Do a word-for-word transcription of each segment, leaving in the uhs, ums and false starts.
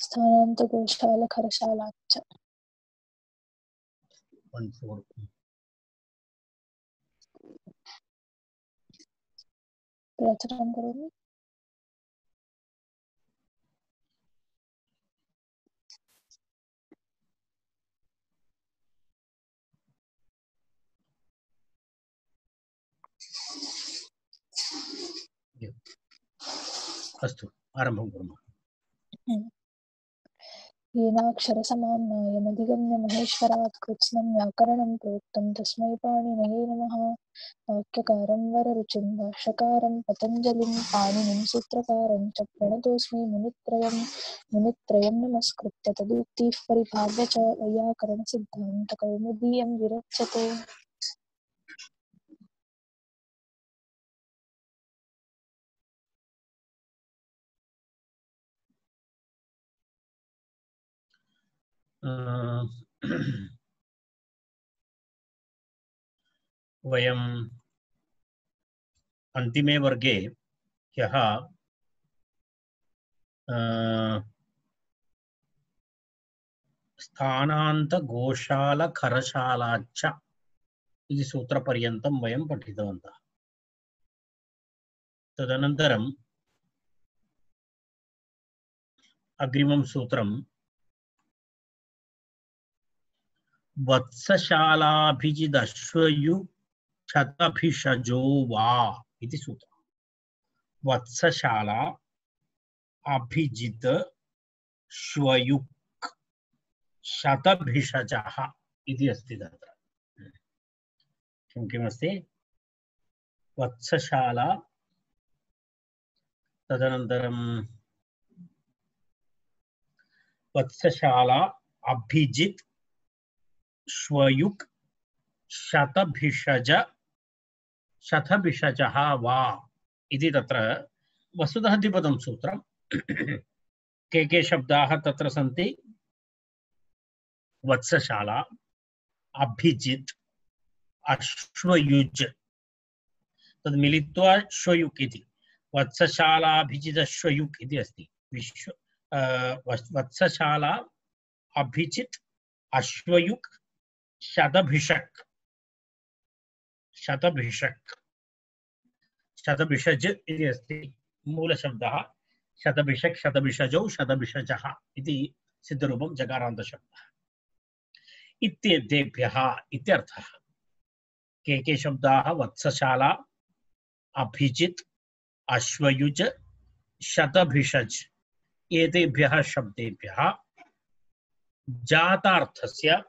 स्थानान्तगोशालखरशालाच्च प्रचुरं करोमि। अस्तु आरम्भं कुर्मः। येनाक्षरसमाम्नायमधिगम्य महेश्वरात् कृत्स्नं व्याकरणं प्रोक्तं तस्मै पाणिनये नमः। वाक्यकारं वररुचिं भाष्यकारं पतञ्जलिं पाणिनिं सूत्रकारं च प्रणतोऽस्मि मुनित्रयं मुनित्रयं नमस्कृत्य तदुक्तिः परिभाव्य च वैयाकरणसिद्धान्तकौमुदीयं विरच्यते। वयम् अन्तिमे वर्गे ह्यः स्थानान्तगोशालखरशालाच्च इति सूत्रपर्यन्तं वयं पठितवन्तः। तदनन्तरम् अग्रिमं सूत्रं वत्सशालाभिजिदश्वयु शतभिषजो वा इति सूत्रम्। वत्सशाला अभिजित श्वयुक् शतभिषजः इति अस्ति तत्र। किं किमस्ति? वत्सशाला, तदनन्तरं वत्सशाला अभिजित श्वयुक् शतभिषज शतभिषजः वा इति तत्र वस्तुतः द्विपदं सूत्रं। के के शब्दाः तत्र सन्ति? वत्सशाला, अभिजित, अश्वयुज, तद् मिलित्वा श्वयुक् इति। वत्सशालाभिजित श्वयुक् इति अस्ति। विश्व वत्सशाला अभिजित अश्वयुक् शतभिषक् शतभिषक् शतभिषज इति अस्ति मूलशब्दः। शतभिषक् शतभिषजौ शतभिषजः इति सिद्धरूपं जकारान्तशब्दः इत्येतेभ्यः इत्यर्थः। के के शब्दाः? वत्सशाला, अभिजित, अश्वयुज, शतभिषज एतेभ्यः शब्देभ्यः जातार्थस्य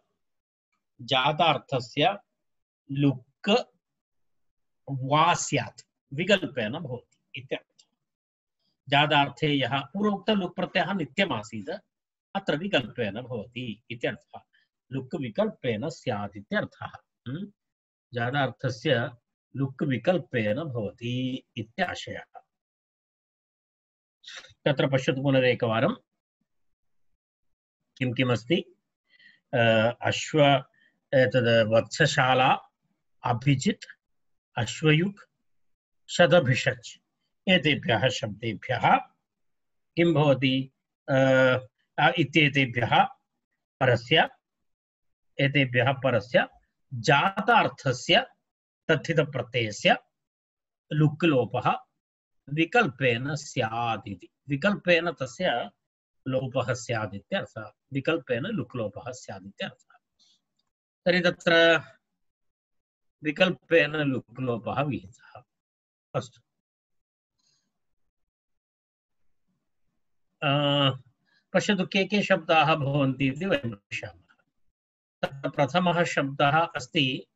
जातार्थस्य लुक् वा स्यात् विकल्पेन भवति इत्यर्थः। जातार्थे यः पूर्वोक्त लुक् प्रत्ययः नित्यमासीत् अत्र विकल्पेन भवति इत्यर्थः। लुक् विकल्पेन स्यात् इत्यर्थः। जातार्थस्य लुक् विकल्पेन भवति इत्याशयः। तत्र पश्यतु पुनरेकवारं किं किमस्ति। अश्व एतद् वत्सशाला अभिजित अश्वयुक् शतभिषज एतेभ्यः शब्देभ्यः किं भवति? इत्येतेभ्यः परस्य एतेभ्यः परस्य जातार्थस्य तथितप्रत्ययस्य लुक् लोपः विकल्पेन स्यात् इति। विकल्पेन तस्य लोपः स्यात् इत्यर्थः। विकल्पेन लुक् लोपः स्यात् इत्यर्थः। तर्हि तत्र विकल्पेन लुक् लोपः विहितः। अस्तु, पश्यतु के के शब्दाः भवन्ति इति वयं पश्यामः। तत्र प्रथमः शब्दः अस्ति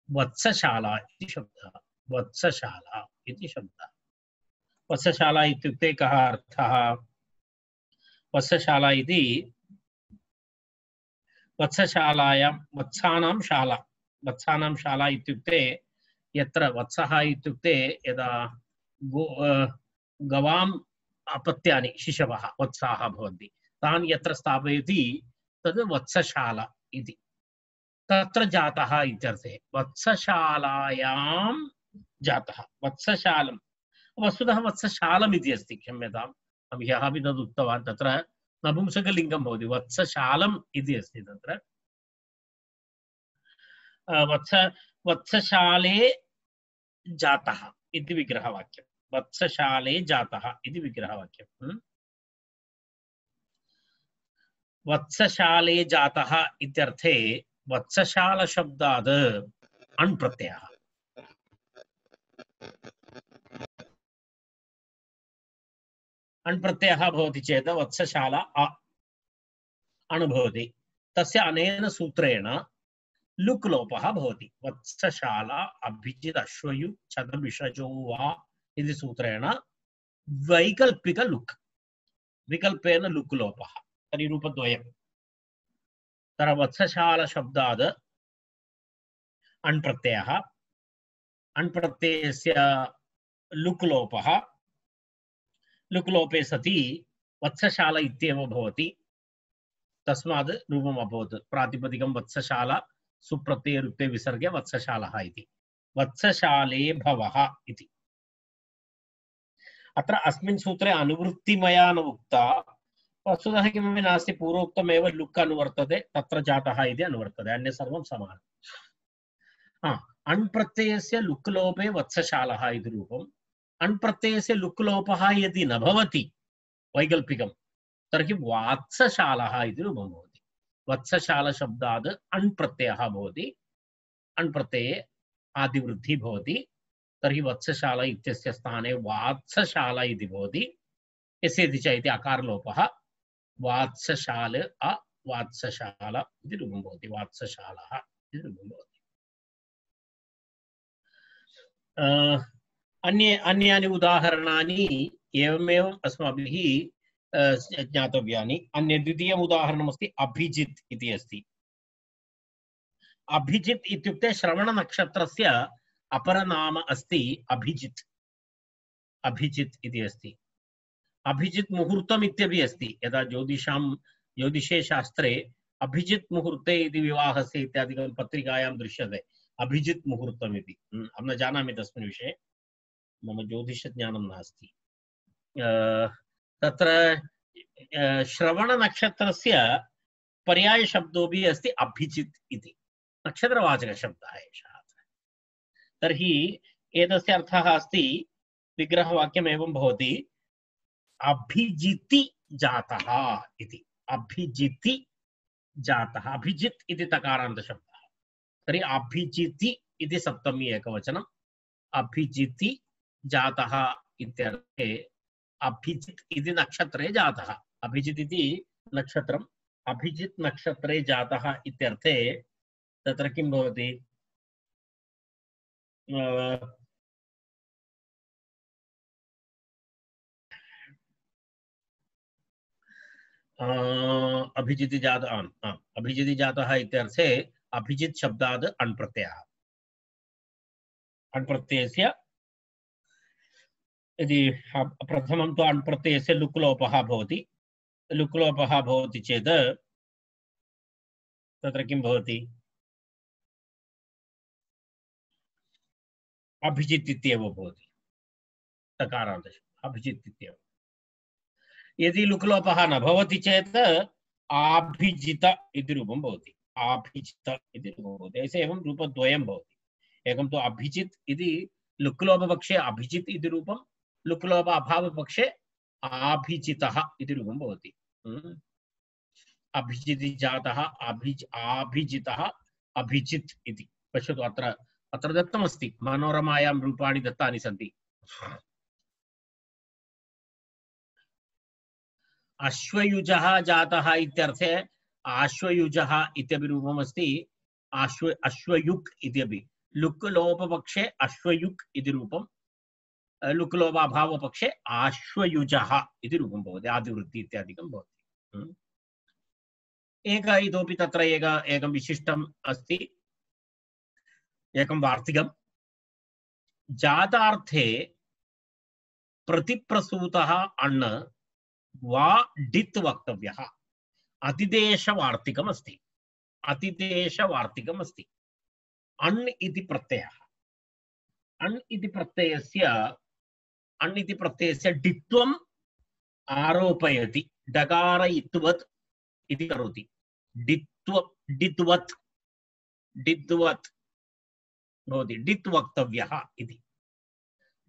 वत्सशाला इति शब्दः। वत्सशाला इति शब्दः। वत्सशाला इत्युक्ते कः अर्थः? वत्सशाला इति वत्सशालायां वत्सानां शाला। वत्सानां शाला इत्युक्ते यत्र वत्सः इत्युक्ते यदा गो गवाम् अपत्यानि शिशवः वत्साः भवन्ति तान् यत्र स्थापयति तद् वत्सशाला इति। तत्र जातः इत्यर्थे। वत्सशालायां जातः। वत्सशालं वस्तुतः वत्सशालम् इति अस्ति। क्षम्यताम्, अहं ह्यः अपि तद् उक्तवान्। तत्र नपुंसकलिङ्गं भवति वत्सशालम् इति अस्ति तत्र वत्स वत्सशाले जातः इति विग्रहवाक्यं वत्सशाले जातः इति विग्रहवाक्यं वत्सशाले जातः इत्यर्थे वत्सशाल शब्दात् अण् प्रत्ययः अण् प्रत्ययः भवति चेत् वत्सशाला अ अणु भवति तस्य अनेन सूत्रेण लुक् लोपः भवति वत्सशाला अभिजित् अश्वयु छदभिषजो वा इति सूत्रेण वैकल्पिक लुक् विकल्पेन लुक् लोपः तर्हि रूपद्वयं तत्र वत्सशाला शब्दात् अण् प्रत्ययः अण् प्रत्ययस्य लुक् लोपः लुक् लोपे सति वत्सशाला इत्येव भवति तस्मात् रूपम् अभवत् प्रातिपदिकं वत्सशाला सुप्रत्यये रुक्ते विसर्गे वत्सशालः इति वत्सशाले भवः इति अत्र अस्मिन् सूत्रे अनुवृत्तिमया न उक्ता वस्तुतः किमपि नास्ति पूर्वोक्तमेव लुक् अनुवर्तते तत्र जातः इति अनुवर्तते अन्य सर्वं समानम् हा अण् प्रत्ययस्य लुक् लोपे वत्सशालः इति रूपम् अण् प्रत्ययस्य लुक् लोपः यदि न भवति वैकल्पिकं तर्हि वात्सशालः इति रूपं भवति वत्सशाल शब्दात् अण् प्रत्ययः भवति अण् प्रत्यये आदिवृद्धिः भवति तर्हि वत्सशाला इत्यस्य स्थाने वात्सशाला इति भवति यस्येति च इति अकारलोपः वात्सशाल अ वात्सशाला इति रूपं भवति वात्सशालः इति रूपं भवति अन्ये अन्यानि उदाहरणानि एवमेव अस्माभिः ज्ञातव्यानि अन्य द्वितीयम् उदाहरणमस्ति अभिजित् इति अस्ति अभिजित् इत्युक्ते श्रवणनक्षत्रस्य अपरनाम अस्ति अभिजित् अभिजित् इति अस्ति अभिजित् मुहूर्तम् इत्यपि अस्ति यदा ज्योतिषां ज्योतिषे शास्त्रे अभिजित् मुहूर्ते इति विवाहस्य इत्यादिकं पत्रिकायां दृश्यते अभिजित् मुहूर्तम् इति अहं न जानामि तस्मिन् विषये मम ज्योतिषज्ञानं नास्ति तत्र श्रवणनक्षत्रस्य पर्यायशब्दोऽपि अस्ति अभिजित् इति नक्षत्रवाचकशब्दः एषः तर्हि एतस्य अर्थः अस्ति विग्रहवाक्यम् एवं भवति अभिजिति जातः इति अभिजिति जातः अभिजित् इति तकारान्तशब्दः तर्हि अभिजिति इति सप्तमी एकवचनम् अभिजिति जातः इत्यर्थे अभिजित् इति नक्षत्रे जातः अभिजित् इति नक्षत्रम् अभिजित् नक्षत्रे जातः इत्यर्थे तत्र किं भवति अभिजिति जातः अभिजिति जातः इत्यर्थे अभिजित् शब्दात् अण् प्रत्ययः अण् प्रत्ययस्य यदि प्रथमं तु अण् प्रत्ययस्य लुक् लोपः भवति लुक् लोपः भवति चेत् तत्र किं भवति अभिजित् इत्येव भवति तकारान्तशब्दः अभिजित् इत्येव यदि लुक् लोपः न भवति चेत् आभिजित इति रूपं भवति आभिजित इति रूपं भवति ऐसे एवं रूपद्वयं भवति एकं तु अभिजित् इति लुक् लोपपक्षे अभिजित् इति रूपं लुक् लोप अभावपक्षे आभिजितः इति रूपं भवति अभिजिति जातः अभिज आभिजितः अभिजित् इति पश्यतु अत्र अत्र दत्तमस्ति मनोरमायां रूपाणि दत्तानि सन्ति अश्वयुजः जातः इत्यर्थे आश्वयुजः इत्यपि रूपमस्ति आश्व अश्वयुक् इत्यपि लुक् लोपपक्षे अश्वयुक् इति रूपं लुक् लोप अभावपक्षे आश्वयुजः इति रूपं भवति आदिवृत्ति इत्यादिकं भवति एक इतोपि तत्र एक एकं विशिष्टम् अस्ति एकं वार्तिकं जातार्थे प्रतिप्रसूतः अण् वा डित् वक्तव्यः अतिदेशवार्तिकम् अस्ति अतिदेशवार्तिकम् अस्ति अण् इति प्रत्ययः अण् इति प्रत्ययस्य अण् इति प्रत्ययस्य डित्वम् आरोपयति डकार इत्वत् इति करोति डित्व डित्वत् डित्वत् भवति डित् वक्तव्यः इति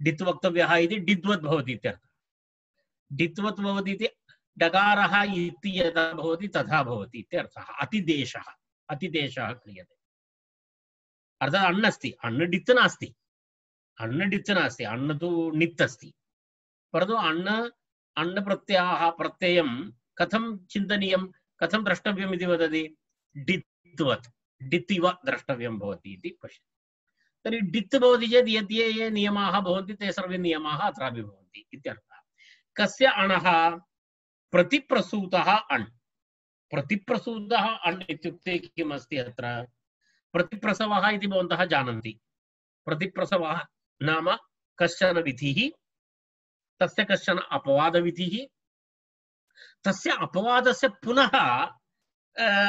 डित् वक्तव्यः इति डित्वत् भवति इत्यर्थः डित्वत् भवति इति डकारः इति यदा भवति तथा भवति इत्यर्थः अतिदेशः अतिदेशः क्रियते अर्थात् अण् अस्ति अण् डित् नास्ति अण् डित् नास्ति अण् तु नित् अस्ति परन्तु अण् अण् प्रत्ययः प्रत्ययं कथं चिन्तनीयं कथं द्रष्टव्यम् इति वदति डित्वत् डित् इव द्रष्टव्यं भवति इति पश्यति तर्हि डित् भवति चेत् यद् ये ये नियमाः भवन्ति ते सर्वे नियमाः अत्रापि भवन्ति इत्यर्थः कस्य अणः प्रतिप्रसूतः अण् प्रतिप्रसूतः अण् इत्युक्ते किम् अस्ति अत्र प्रतिप्रसवः इति भवन्तः जानन्ति प्रतिप्रसवः नाम कश्चन विधिः तस्य कश्चन अपवादविधिः तस्य अपवादस्य पुनः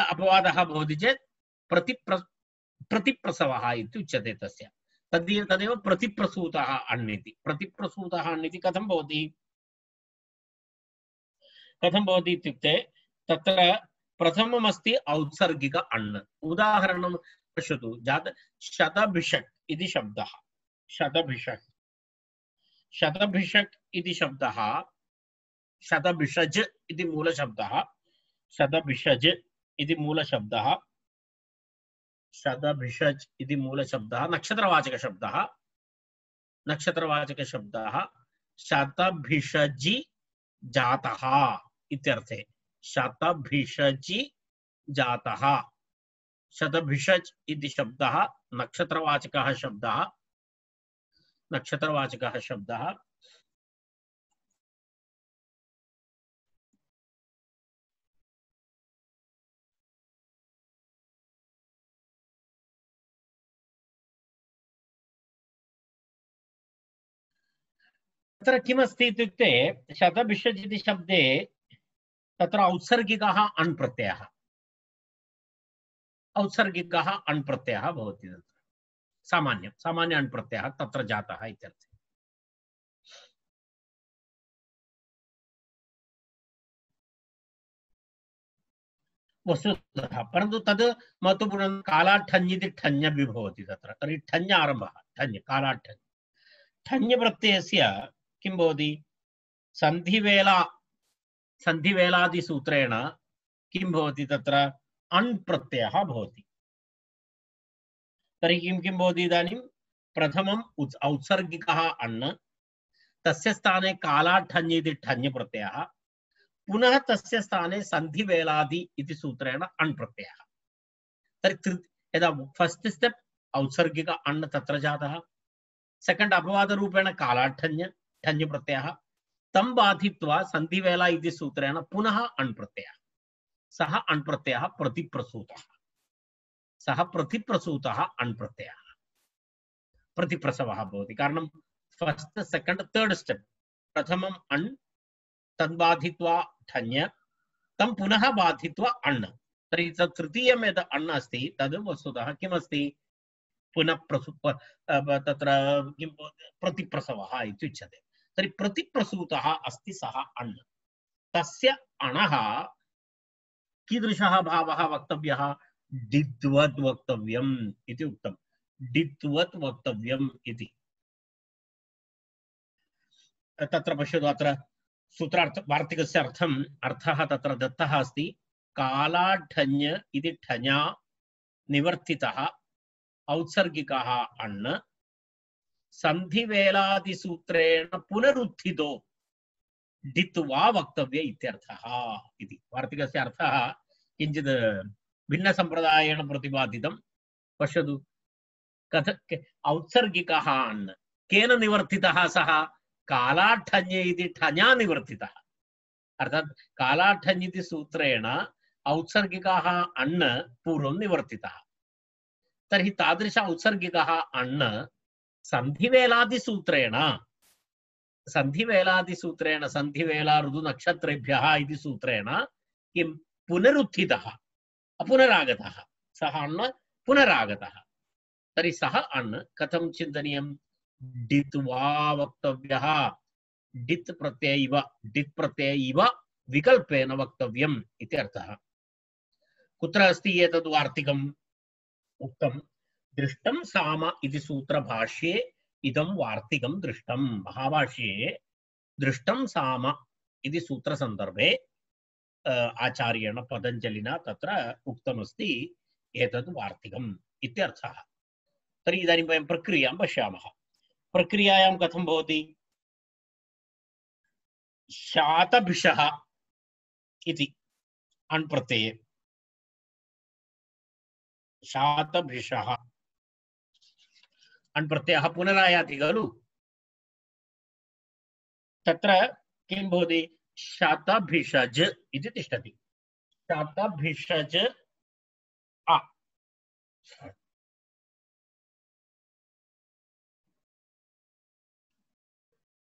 अपवादः भवति चेत् प्रतिप्र प्रतिप्रसवः इति उच्यते तस्य तद् तदेव प्रतिप्रसूतः अण् इति प्रतिप्रसूतः अण् इति कथं भवति कथं भवति इत्युक्ते तत्र प्रथममस्ति औत्सर्गिक अण् उदाहरणं पश्यतु जात शतभिषक् इति शब्दः शतभिषक् शतभिषक् इति शब्दः शतभिषज् इति मूलशब्दः शतभिषज् इति मूलशब्दः शतभिषज् इति मूलशब्दः नक्षत्रवाचकशब्दः नक्षत्रवाचकशब्दः शतभिषजि जातः इत्यर्थे शतभिषजि जातः शतभिषज् इति शब्दः नक्षत्रवाचकः शब्दः नक्षत्रवाचकः शब्दः तत्र किमस्ति इत्युक्ते शतभिषज् इति शब्दे तत्र औत्सर्गिकः अण् प्रत्ययः औत्सर्गिकः अण् प्रत्ययः भवति तत्र सामान्य सामान्य अण् प्रत्ययः तत्र जातः इत्यर्थे वस्तुतः परन्तु तद् महत्वपूर्णं कालाठञ् इति ठञ् भवति तत्र तर्हि ठञ् आरम्भः ठञ् कालाठञ् ठञ् प्रत्ययस्य किं भवति सन्धिवेला सन्धिवेलादिसूत्रेण किं भवति तत्र अण् प्रत्ययः भवति तर्हि किं किं भवति इदानीं प्रथमम् औत्सर्गिकः अण् तस्य स्थाने कालाठञ् इति ठञ् प्रत्ययः पुनः तस्य स्थाने सन्धिवेलादि इति सूत्रेण अण् प्रत्ययः तर्हि यदा फस्ट् स्टेप् औत्सर्गिक अण् तत्र जातः सेकंड अपवाद रूपेण कालाठञ् ठञ् प्रत्ययः तं बाधित्वा सन्धिवेला इति सूत्रेण पुनः अण् प्रत्ययः सः अण् प्रत्ययः प्रतिप्रसूतः सः प्रतिप्रसूतः अण् प्रत्ययः प्रतिप्रसवः भवति कारणं फस्ट् सेकंड थर्ड स्टेप् प्रथमम् अण् तद् बाधित्वा ठञ् तं पुनः बाधित्वा अण् तर्हि तत् तृतीयं यद् अण् अस्ति तद् वस्तुतः किमस्ति पुनः प्रसु तत्र किं प्रतिप्रसवः इति उच्यते तर्हि प्रतिप्रसूतः अस्ति सः अण् तस्य अणः कीदृशः भावः वक्तव्यः डित्वत् वक्तव्यम् इति उक्तं डित्वत् वक्तव्यम् इति तत्र पश्यतु अत्र सूत्रार्थ वार्तिकस्य अर्थम् अर्थः तत्र दत्तः अस्ति कालाठञ् इति ठञा निवर्तितः औत्सर्गिकः अण् सन्धिवेलादिसूत्रेण पुनरुत्थितो डित्वा वक्तव्य इत्यर्थः इति वार्तिकस्य अर्थः किञ्चित् भिन्नसम्प्रदायेन प्रतिपादितं पश्यतु कथ औत्सर्गिकः अण् केन निवर्तितः सः कालाठञ् इति ठञा निवर्तितः अर्थात् कालाठञ् इति सूत्रेण औत्सर्गिकः अण् पूर्वं निवर्तितः तर्हि तादृश औत्सर्गिकः अण् सन्धिवेलादिसूत्रेण सन्धिवेलादिसूत्रेण सन्धिवेला ऋतुनक्षत्रेभ्यः इति सूत्रेण किं पुनरुत्थितः पुनरागतः सः अण् पुनरागतः तर्हि सः अण् कथं चिन्तनीयं डित्वा वक्तव्यः डित् प्रत्यय इव डित् प्रत्यय इव विकल्पेन वक्तव्यम् इति अर्थः। कुत्र अस्ति एतद् वार्तिकम् उक्तं दृष्टं साम इति सूत्रभाष्ये इदं वार्तिकं दृष्टं। महाभाष्ये दृष्टं साम इति सूत्रसन्दर्भे आचार्येण पतञ्जलिना तत्र उक्तमस्ति एतद् वार्तिकम् इत्यर्थः। तर्हि इदानीं वयं प्रक्रियां पश्यामः। प्रक्रियायां कथं भवति? शातभिषः इति अण् प्रत्यये शातभिषः अण् प्रत्ययः पुनरायाति खलु। तत्र किं भवति? शतभिषज इति तिष्ठति। शतभिषज अ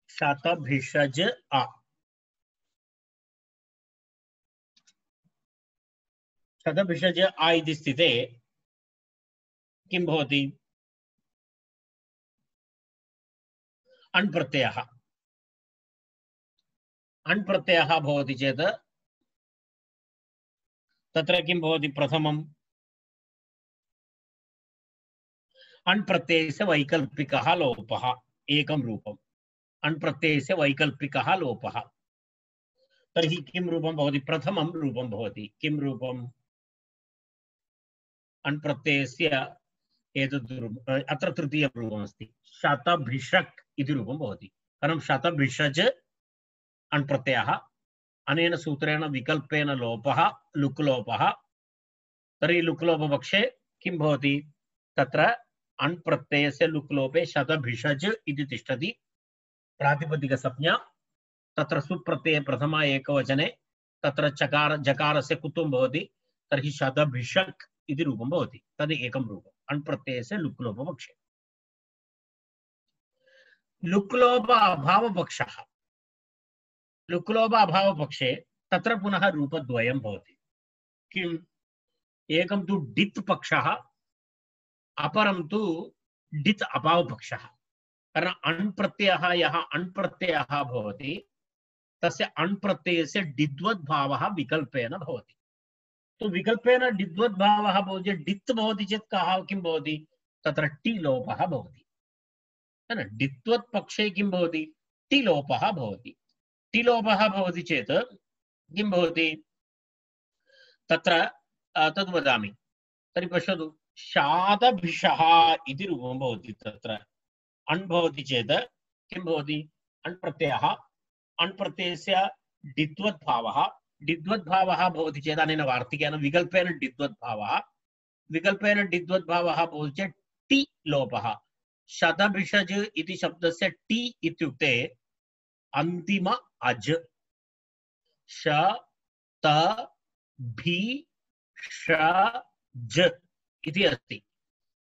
शतभिषज अ शतभिषज अ इति स्थिते किं भवति? अण् प्रत्ययः अण् प्रत्ययः भवति चेत् तत्र किं भवति? प्रथमम् अण् प्रत्ययस्य वैकल्पिकः लोपः, एकं रूपम्। अण् प्रत्ययस्य वैकल्पिकः लोपः। तर्हि किं रूपं भवति? प्रथमं रूपं भवति। किं रूपम्? अण् प्रत्ययस्य एतद् अत्र तृतीयं रूपमस्ति, शतभिषक् इति रूपं भवति। कारणं शतभिषज अण् प्रत्ययः, अनेन सूत्रेण विकल्पेन लोपः, लुक् लोपः। तर्हि लुक् लोपपक्षे किं भवति? तत्र अण् प्रत्ययस्य लुक् लोपे शतभिषज इति तिष्ठति, प्रातिपदिकसंज्ञा। तत्र सुप्रत्यये प्रथमा एकवचने तत्र चकार जकारस्य कुत्वं भवति, तर्हि शतभिषक् इति रूपं भवति। तद् एकं रूपम् अण् प्रत्ययस्य लुक् लोपपक्षे। लुक् लोप अभावपक्षः लुक् लोप अभावपक्षे तत्र पुनः रूपद्वयं भवति। किम्? एकं तु डित् पक्षः, अपरं तु डित् अभावपक्षः। कारण अण् प्रत्ययः यः अण् प्रत्ययः भवति तस्य अण् प्रत्ययस्य डिद्वद्भावः विकल्पेन भवति। तो विकल्पेन डिद्वद्भावः भवति, डित् भवति चेत् कः किं भवति? तत्र टि लोपः भवति। डित्वत् पक्षे किं भवति? टि लोपः भवति। टि लोपः भवति चेत् किं भवति? तत्र तद् वदामि। तर्हि पश्यतु, शातभिषः इति रूपं भवति। तत्र अण् भवति चेत् किं भवति? अण् प्रत्ययः, अण् प्रत्ययस्य डिद्वद्भावः डिद्वद्भावः भवति चेत् अनेन वार्तिकेन विकल्पेन डिद्वद्भावः विकल्पेन डिद्वद्भावः भवति चेत् टि लोपः। शतभिषज इति शब्दस्य टि इत्युक्ते अन्तिम अज। श त भी ष ज इति अस्ति।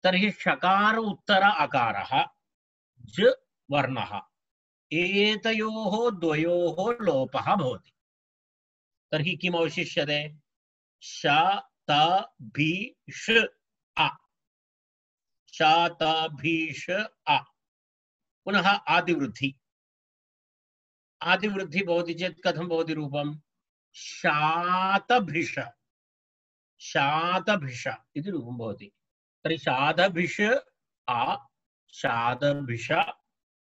तर्हि षकार उत्तर अकारः ज वर्णः, एतयोः द्वयोः लोपः भवति। तर्हि किम् अवशिष्यते? श त भी ष अ श त भी ष अ। पुनः आदिवृद्धि आदिवृद्धि भवति चेत् कथं भवति रूपं? शातभिष शातभिष इति रूपं भवति। तर्हि शातभिष आ शातभिष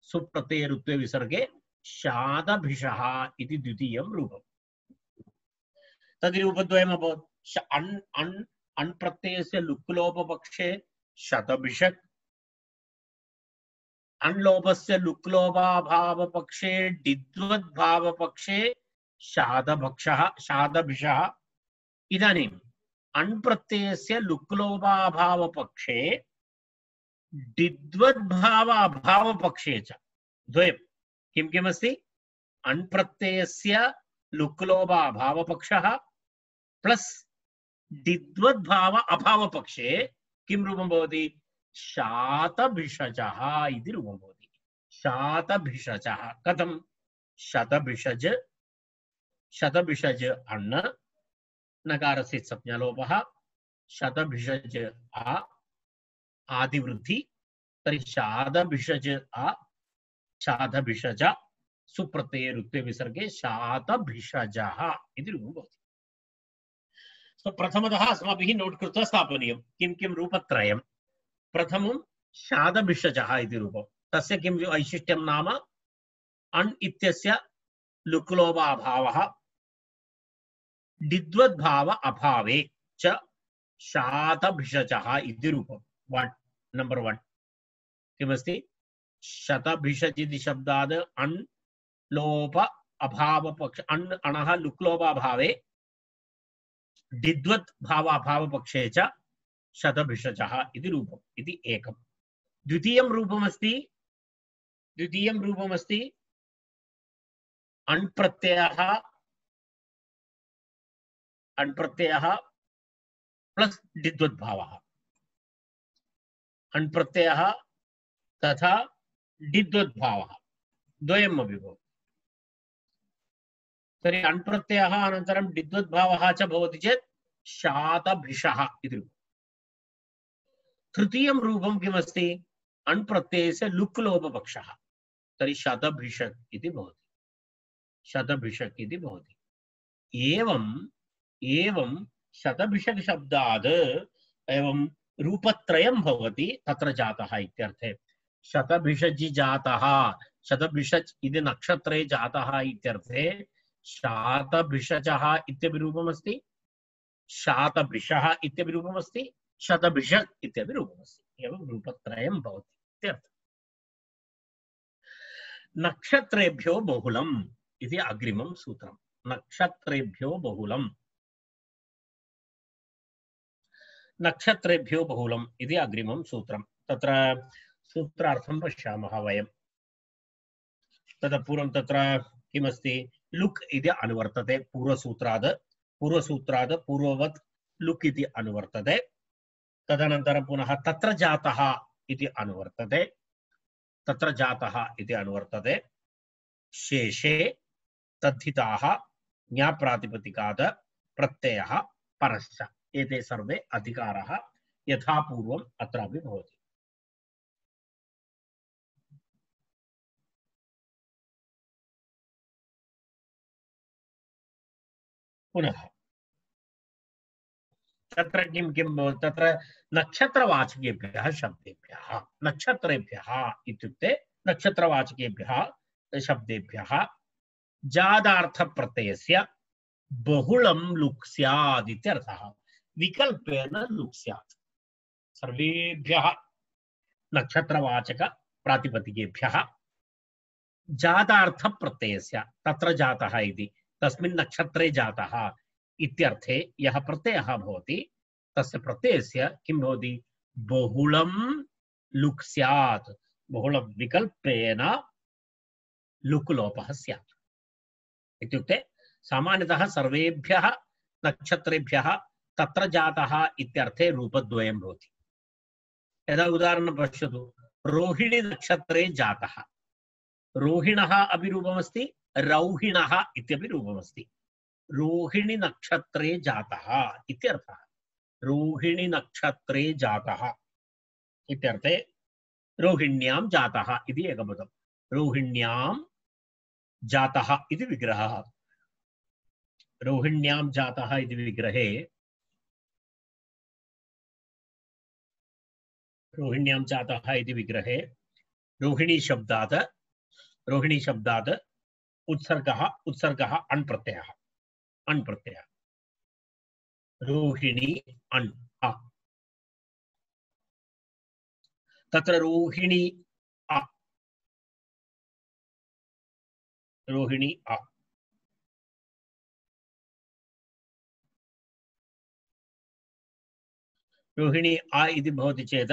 सुप्रत्ययरुत्वे विसर्गे शातभिषः इति द्वितीयं रूपम्। तद् रूपद्वयम् अभवत्। अण् अण् अण् प्रत्ययस्य लुक् लोपपक्षे शतभिषक्, अण् लोपस्य लुक् लोपाभावपक्षे डिद्वद्भावपक्षे शातभक्षः शातभिषः। इदानीम् अण् प्रत्ययस्य लुक् लोपाभावपक्षे डिद्वद्भाव अभावपक्षे च द्वयं किं किमस्ति? अण् प्रत्ययस्य लुक् लोप अभावपक्षः प्लस डिद्वद्भाव अभावपक्षे किं रूपं भवति? शातभिषजः इति रूपं भवति। शातभिषजः कथं? शतभिषज शतभिषज अण् नकारस्य संज्ञालोपः, शतभिषज आ आदिवृद्धि। तर्हि शातभिषज आ शातभिषज सुप्रत्यये रुत्वे विसर्गे शातभिषजः इति रूपं भवति। सो प्रथमतः अस्माभिः नोट् कृत्वा स्थापनीयं किं किं रूपत्रयं। प्रथमं शातभिषजः इति रूपं, तस्य किं वैशिष्ट्यं नाम अण् इत्यस्य लुक्लोभाभावः डिद्वद्भाव अभावे च शातभिषजः इति रूपं। वन् नंबर वन् किमस्ति शतभिषज इति शब्दात् अण् लोप अभाव पक्ष अण् अणः लुक्लोभाभावे डिद्वत् भाव अभाव पक्षे च शतभिषजः इति रूपम् इति एकम्। द्वितीयं रूपमस्ति द्वितीयं रूपमस्ति अण् प्रत्ययः अण् प्रत्ययः प्लस् डिद्वद्भावः, अण् प्रत्ययः तथा डिद्वद्भावः द्वयमपि भवति। तर्हि अण् प्रत्ययः अनन्तरं डिद्वद्भावः च भवति चेत् शातभिषः इति रूपम्। तृतीयं रूपं किमस्ति अण् प्रत्ययस्य लुक् लोपपक्षः, तर्हि शतभिषक् इति भवति, शतभिषक् इति भवति। एवम् एवं शतभिषक् शब्दात् एवं रूपत्रयं भवति तत्र जातः इत्यर्थे। शतभिषजि जातः, शतभिषज् इति नक्षत्रे जातः इत्यर्थे शातभिषजः इत्यपि रूपमस्ति, शातभिषः इत्यपि रूपमस्ति, शतभिषक् इत्यपि रूपमस्ति। एवं रूपत्रयं भवति इत्यर्थः। नक्षत्रेभ्यो बहुलम् इति अग्रिमं सूत्रम्। नक्षत्रेभ्यो बहुलम्, नक्षत्रेभ्यो बहुलम् इति अग्रिमं सूत्रम्। तत्र सूत्रार्थं पश्यामः वयं। ततः पूर्वं तत्र किमस्ति लुक् इति अनुवर्तते पूर्वसूत्रात्, पूर्वसूत्रात् पूर्ववत् लुक् इति अनुवर्तते। तदनन्तरं पुनः तत्र जातः इति अनुवर्तते, तत्र जातः इति अनुवर्तते। शेषे तद्धिताः ज्ञाप्रातिपदिकात् प्रत्ययः परश्च, एते सर्वे अधिकाराः यथा पूर्वम् अत्रापि भवति। पुनः तत्र किं किं तत्र नक्षत्रवाचकेभ्यः शब्देभ्यः, नक्षत्रेभ्यः इत्युक्ते नक्षत्रवाचकेभ्यः शब्देभ्यः जादार्थप्रत्ययस्य बहुलं लुक् स्यात् इत्यर्थः। विकल्पेन लुक् स्यात्। सर्वेभ्यः नक्षत्रवाचक प्रातिपदिकेभ्यः जातार्थप्रत्ययस्य, तत्र जातः इति तस्मिन् नक्षत्रे जातः इत्यर्थे यः प्रत्ययः भवति तस्य प्रत्ययस्य किं भवति बहुलं लुक् स्यात्। बहुलं विकल्पेन लुक् लोपः स्यात् इत्युक्ते सामान्यतः सर्वेभ्यः नक्षत्रेभ्यः तत्र जातः इत्यर्थे रूपद्वयं भवति। यदा उदाहरणं पश्यतु, रोहिणी नक्षत्रे जातः, रोहिणः अपि रूपमस्ति, रौहिणः इत्यपि रूपमस्ति। रोहिणी नक्षत्रे जातः इत्यर्थः। रोहिणी नक्षत्रे जातः इत्यर्थे रोहिण्यां जातः इति एकपदं। रोहिण्यां जातः इति विग्रहः। रोहिण्यां जातः इति विग्रहे रोहिण्यां जातः इति विग्रहे रोहिणी शब्दात् रोहिणी शब्दात् उत्सर्गः उत्सर्गः अण् प्रत्ययः अण् प्रत्ययः रोहिणी अण् अ। तत्र रोहिणी अ रोहिणी अ रोहिणी आ इति भवति चेत्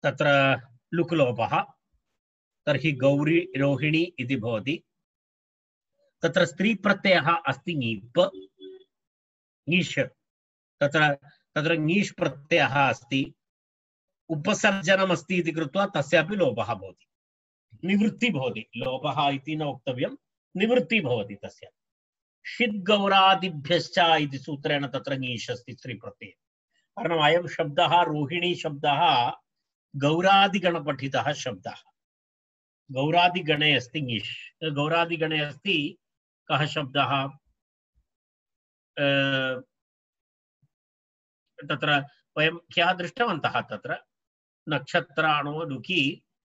तत्र लुक् लोपः, तर्हि गौरी रोहिणी इति भवति। तत्र स्त्री प्रत्ययः अस्ति ङीप् ङीष्, तत्र तत्र ङीष् प्रत्ययः अस्ति, उपसर्जनम् अस्ति इति कृत्वा तस्यापि लोपः भवति, निवृत्ति भवति। लोपः इति न वक्तव्यं, निवृत्ति भवति तस्य। षिद्गौरादिभ्यश्च इति सूत्रेण तत्र ङीष् अस्ति स्त्री प्रत्यये। कारणम् अयं शब्दः रोहिणी शब्दः गौरादिगणपठितः शब्दः गौरादिगणे अस्ति ङीष् गौरादिगणे अस्ति कः शब्दः तत्र वयं ह्यः दृष्टवन्तः तत्र नक्षत्राणो लुकि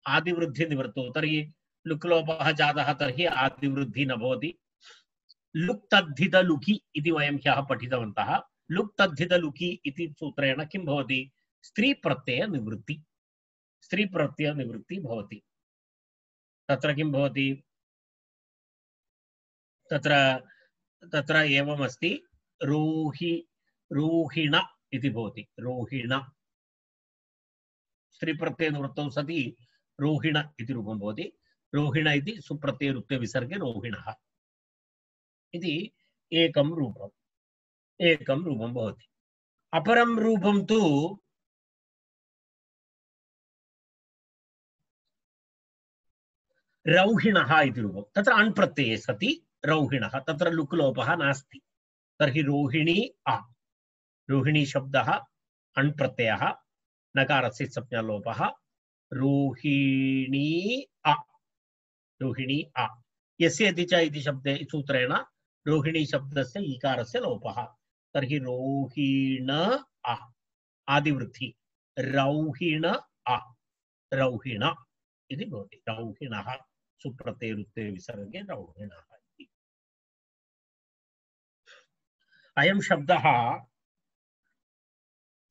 आदिवृद्धिनिवृत्तौ तर्हि लुक्लोपः जातः तर्हि आदिवृद्धिः न भवति लुक् तद्धित लुकि इति वयं ह्यः पठितवन्तः लुक् तद्धित लुकि इति सूत्रेण किं भवति स्त्री प्रत्यय निवृत्ति स्त्री प्रत्यय निवृत्ति भवति तत्र किं भवति तत्र तत्र एवमस्ति रोहि रोहिण इति भवति रोहिण स्त्री प्रत्यय निवृत्तौ सति रोहिण इति रूपं भवति रोहिण इति सुप्रत्यय रुक्ते विसर्गे रोहिणः इति एकं रूपम् एकं रूपं भवति अपरं रूपं तु रौहिणः इति रूपं तत्र अण् प्रत्यये सति रौहिणः तत्र लुक् लोपः नास्ति तर्हि रोहिणी अ रोहिणी शब्दः अण् प्रत्ययः नकारस्य संज्ञालोपः रोहिणी अ रोहिणी अ यस्य इति च इति शब्दे सूत्रेण रोहिणी शब्दस्य ईकारस्य लोपः तर्हि रोहिण अ आदिवृद्धि रौहिण अ रौहिण इति भवति रौहिणः सुप्रत्ययरुक्ते विसर्गे रौहिणः इति अयं शब्दः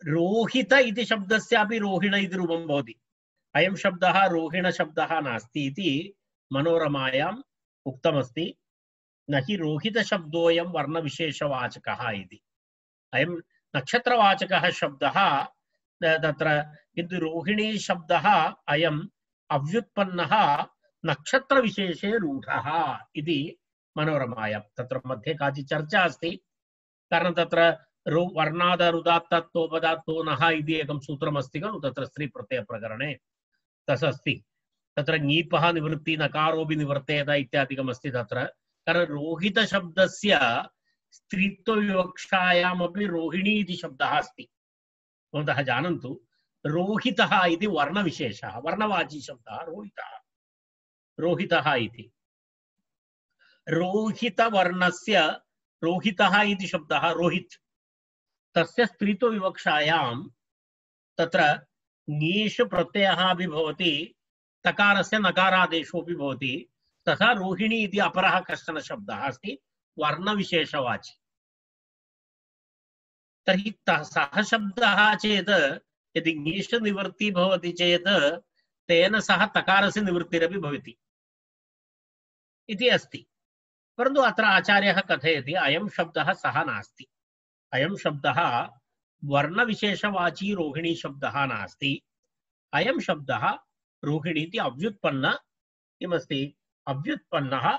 रोहित इति शब्दस्यापि रोहिण इति रूपं भवति अयं शब्दः रोहिण शब्दः नास्ति इति मनोरमायाम् उक्तमस्ति न हि रोहित शब्दोऽयं वर्णविशेषवाचकः इति अयं नक्षत्रवाचकः शब्दः तत्र किन्तु रोहिणी शब्दः अयम् अव्युत्पन्नः नक्षत्रविशेषे रूढः इति मनोरमायां तत्र मध्ये काचित् चर्चा अस्ति कारणं तत्र रो वर्णादरुदात्तत्वोपदात्तो नः इति एकं सूत्रमस्ति खलु तत्र स्त्रीप्रत्ययप्रकरणे तदस्ति तत्र ङीपः निवृत्ति नकारोऽपि निवर्तेत इत्यादिकमस्ति तत्र कारण रोहितशब्दस्य स्त्रीत्वविवक्षायामपि रोहिणी इति शब्दः अस्ति भवन्तः जानन्तु रोहितः इति वर्णविशेषः वर्णवाची शब्दः रोहितः रोहितः इति रोहितवर्णस्य रोहितः इति शब्दः रोहित् तस्य स्त्रीत्वविवक्षायां तत्र ङीषु प्रत्ययः अपि भवति तकारस्य नकारादेशोऽपि भवति तथा रोहिणी इति अपरः कश्चन शब्दः अस्ति वर्णविशेषवाची तर्हि सः शब्दः चेत् यदि ङीष निवृत्ति भवति चेत् तेन सह तकारस्य निवृत्तिरपि भवति इति अस्ति परन्तु अत्र आचार्यः कथयति अयं शब्दः सः नास्ति अयं शब्दः वर्णविशेषवाची रोहिणी शब्दः नास्ति अयं शब्दः रोहिणी इति अव्युत्पन्न किमस्ति अव्युत्पन्नः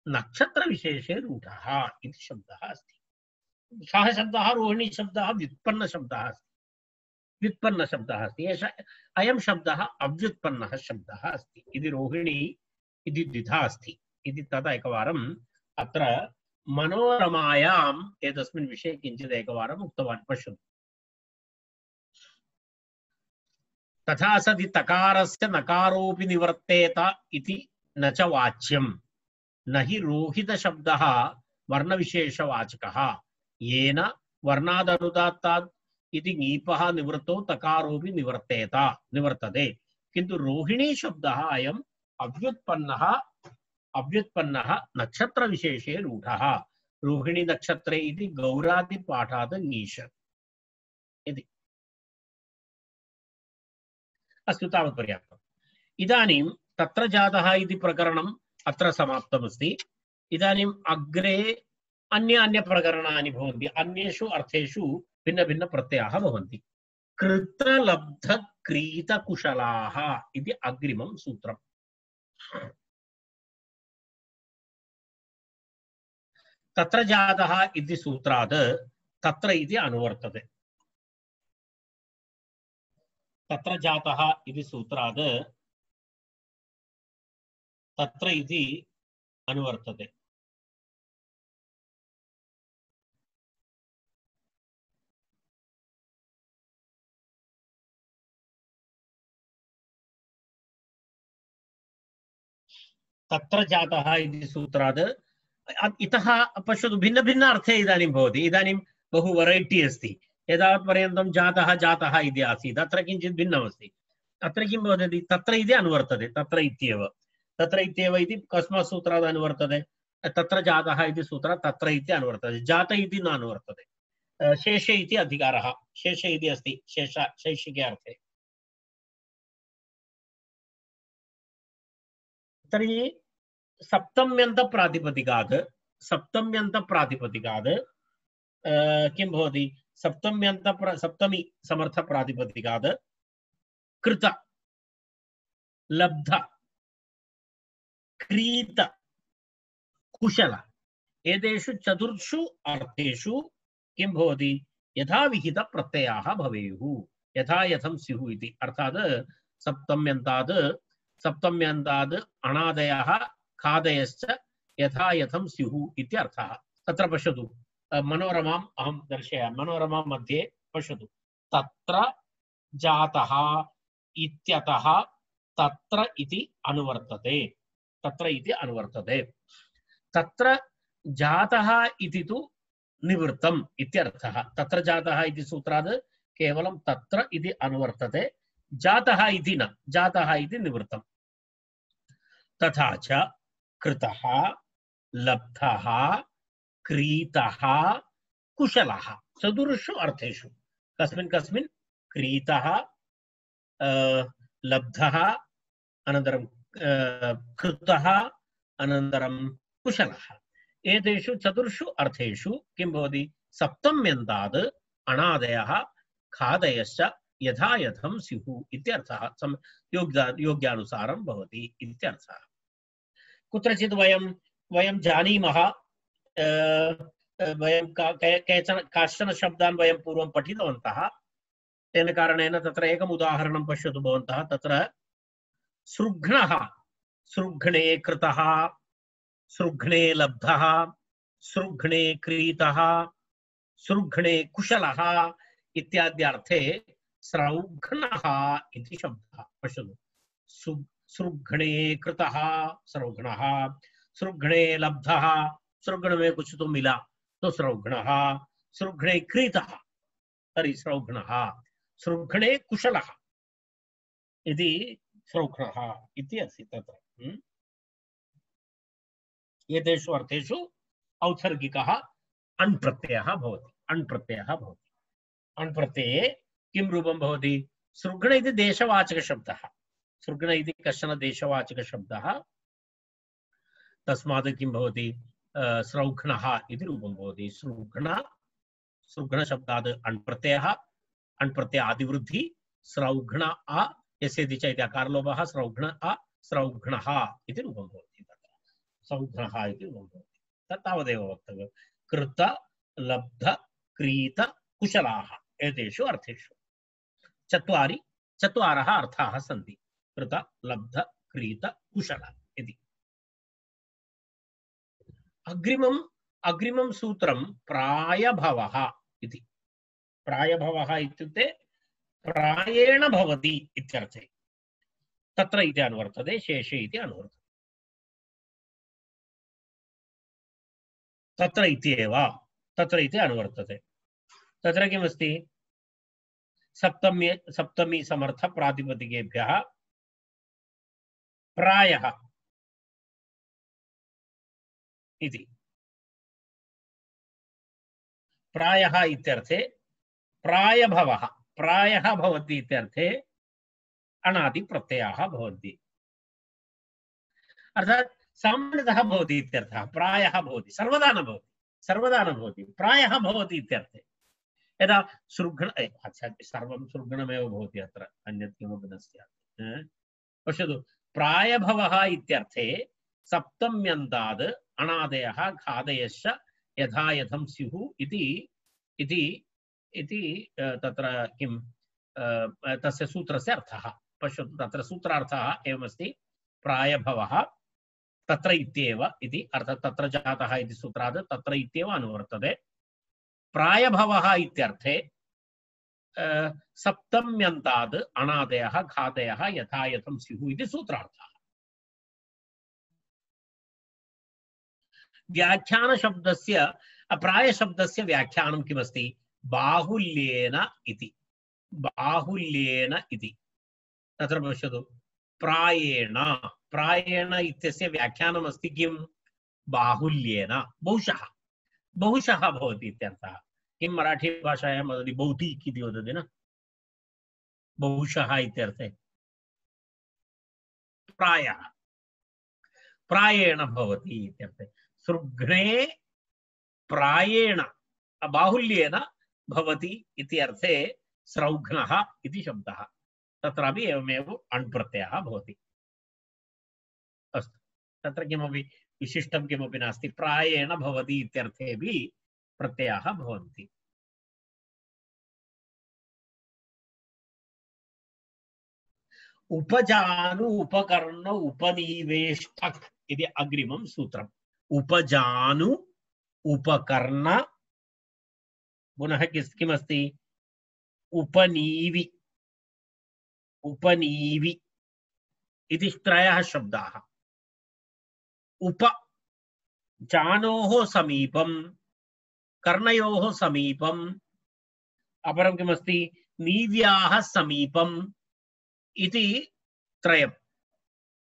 नक्षत्रविशेषे रूढः इति शब्दः अस्ति सः शब्दः रोहिणी शब्दः व्युत्पन्न शब्दः अस्ति व्युत्पन्न शब्दः अस्ति एष अयं शब्दः अव्युत्पन्नः शब्दः अस्ति इति रोहिणी इति द्विधा अस्ति इति तदा एकवारम् अत्र मनोरमायाम् एतस्मिन् विषये किञ्चित् एकवारम् उक्तवान् पश्यतु तथा सति तकारस्य नकारोऽपि निवर्तेत इति न च वाच्यं न हि रोहितशब्दः वर्णविशेषवाचकः येन वर्णादनुदात्तात् इति ङीपः निवृत्तौ तकारोऽपि निवर्तेत निवर्तते किन्तु रोहिणी शब्दः अयम् अव्युत्पन्नः अव्युत्पन्नः नक्षत्रविशेषे रूढः रोहिणी नक्षत्रे इति गौरादिपाठात् ङीष इति अस्तु तावत् पर्याप्तम् इदानीं तत्र जातः इति प्रकरणम् अत्र समाप्तमस्ति इदानीम् अग्रे अन्य अन्य प्रकरणानि भवन्ति अन्येषु अर्थेषु भिन्न भिन्न प्रत्ययाः भवन्ति कृतलब्धक्रीतकुशलाः इति अग्रिमं सूत्रम् तत्र जातः इति सूत्रात् तत्र इति अनुवर्तते तत्र जातः इति सूत्रात् तत्र इति अनुवर्तते तत्र जातः इति सूत्रात् इतः पश्यतु भिन्न भिन्न अर्थे इदानीं भवति इदानीं बहु वैरैटी अस्ति एतावत्पर्यन्तं जातः जातः इति आसीत् अत्र किञ्चित् भिन्नमस्ति अत्र किं भवति तत्र इति अनुवर्तते तत्र इत्येव तत्र इत्येव इति कस्मात् सूत्रात् अनुवर्तते तत्र जातः इति सूत्रात् तत्र इति अनुवर्तते जात इति न अनुवर्तते शेषे इति अधिकारः शेषे इति अस्ति शेष शैक्षिके अर्थे तर्हि सप्तम्यन्तप्रातिपदिकात् सप्तम्यन्तप्रातिपदिकात् किं भवति सप्तम्यन्त सप्तमी समर्थप्रातिपदिकात् कृत लब्ध क्रीत कुशल एतेषु चतुर्षु अर्थेषु किं भवति यथाविहित प्रत्ययाः भवेयुः यथा यथं स्युः इति अर्थात् सप्तम्यन्तात् सप्तम्यन्तात् अणादयः खादयश्च यथा यथं स्युः इति अर्थः तत्र पश्यतु मनोरमाम् अहं दर्शयामि मनोरमा मध्ये पश्यतु तत्र जातः इत्यतः तत्र इति अनुवर्तते तत्र इति अनुवर्तते तत्र जातः इति तु निवृत्तम् इत्यर्थः तत्र जातः इति सूत्रात् केवलं तत्र इति अनुवर्तते जातः इति न जातः इति निवृत्तम् तथा च कृतः लब्धः क्रीतः कुशलः चतुर्षु अर्थेषु कस्मिन् कस्मिन् क्रीतः लब्धः अनन्तरं कृतः अनन्तरं कुशलः एतेषु चतुर्षु अर्थेषु किं भवति सप्तम्यन्तात् अणादयः खादयश्च यथा यथं स्युः इत्यर्थः योग्या योग्यानुसारं भवति इत्यर्थः कुत्रचित् वयं वयं जानीमः वयं केचन काश्चन शब्दान् वयं पूर्वं पठितवन्तः तेन कारणेन तत्र एकम् उदाहरणं पश्यतु भवन्तः तत्र सृघ्नः सृघ्ने कृतः सृघ्ने लब्धः सृघ्ने क्रीतः सृघ्ने कुशलः इत्याद्यर्थे सृघ्नः इति शब्दः पश्यतु सृघ्ने कृतः सृघ्नः सृघ्ने लब्धः सृघ्न में कुछ तो मिला तो सृघ्नः सृघ्ने क्रीतः तर्हि सृघ्नः सृघ्ने कुशलः इति सृघ्नः इति अस्ति तत्र एतेषु अर्थेषु औत्सर्गिकः अण् प्रत्ययः भवति अण् प्रत्ययः भवति अण् प्रत्यये किं रूपं भवति सृघ्न इति देशवाचकशब्दः सृघ्न इति कश्चन देशवाचकशब्दः तस्मात् किं भवति सृघ्नः इति रूपं भवति सृघ्न सृघ्न शब्दात् अण् प्रत्ययः अण् प्रत्यय आदिवृद्धि सृघ्न अ यस्यति च इति अकारलोपः सृघ्न अ सृघ्नः इति रूपं भवति तत्र सृघ्नः इति रूपं भवति तत् तावदेव वक्तव्यं कृत लब्ध क्रीत कुशलाः एतेषु अर्थेषु चत्वारि चत्वारः अर्थाः सन्ति कृत लब्ध क्रीत कुशल इति अग्रिमम् अग्रिमं सूत्रं प्रायभवः इति प्रायभवः इत्युक्ते प्रायेण भवति इत्यर्थे तत्र इति अनुवर्तते शेषे इति अनुवर्तते तत्र इत्येव तत्र इति अनुवर्तते तत्र किमस्ति सप्तमी सप्तमी समर्थ प्रातिपदिकेभ्यः प्रायः इति प्रायः इत्यर्थे प्रायभवः प्रायः भवति इत्यर्थे अणादि प्रत्ययाः भवन्ति अर्थात् सामान्यतः भवति इत्यर्थः प्रायः भवति सर्वदा न भवति सर्वदा न भवति प्रायः भवति इत्यर्थे यदा सृघ्न अच्छा सर्वं सृघ्नमेव भवति अत्र अन्यत् किमपि न स्यात् पश्यतु प्रायभवः इत्यर्थे सप्तम्यन्ताद् अणादयः खादयश्च यथा यथं स्युः इति इति इति तत्र किं तस्य सूत्रस्य अर्थः पश्यतु तत्र सूत्रार्थः एवमस्ति प्रायभवः तत्र इत्येव इति अर्थात् तत्र जातः इति सूत्रात् तत्र इत्येव अनुवर्तते प्रायभवः इत्यर्थे सप्तम्यन्ताद् अणादयः खादयः यथा यथं स्युः इति सूत्रार्थः व्याख्यानशब्दस्य प्रायशब्दस्य व्याख्यानं किमस्ति बाहुल्येन इति बाहुल्येन इति तत्र पश्यतु प्रायेण प्रायेण इत्यस्य व्याख्यानम् अस्ति किं बाहुल्येन बहुशः बहुशः भवति इत्यर्थः किं मराठी भाषायां वदति बहुतीक् इति वदति न बहुशः इत्यर्थे प्रायः प्रायेण भवति इत्यर्थे सृग्ने प्रायेण बाहुल्येन भवति इति अर्थे सृग्नः इति शब्दः तत्रापि एवमेव अण् प्रत्ययः भवति अस्तु तत्र किमपि विशिष्टं किमपि नास्ति प्रायेण भवति इत्यर्थेपि प्रत्ययाः भवन्ति उपजानु उपकर्ण उपनिवेष्टक इति अग्रिमं सूत्रम् उपजानु उपकर्ण पुनः किमस्ति उपनीवि उपनीवि इति त्रयः शब्दाः उप जानोः समीपं कर्णयोः समीपं अपरं किमस्ति नीव्याः समीपं इति त्रयं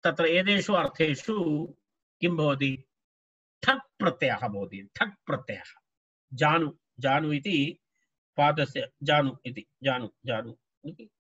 तत्र एतेषु अर्थेषु किं भवति ठक् प्रत्ययः भवति ठक् प्रत्ययः जानु जानु इति पादस्य जानु इति जानु जानु इति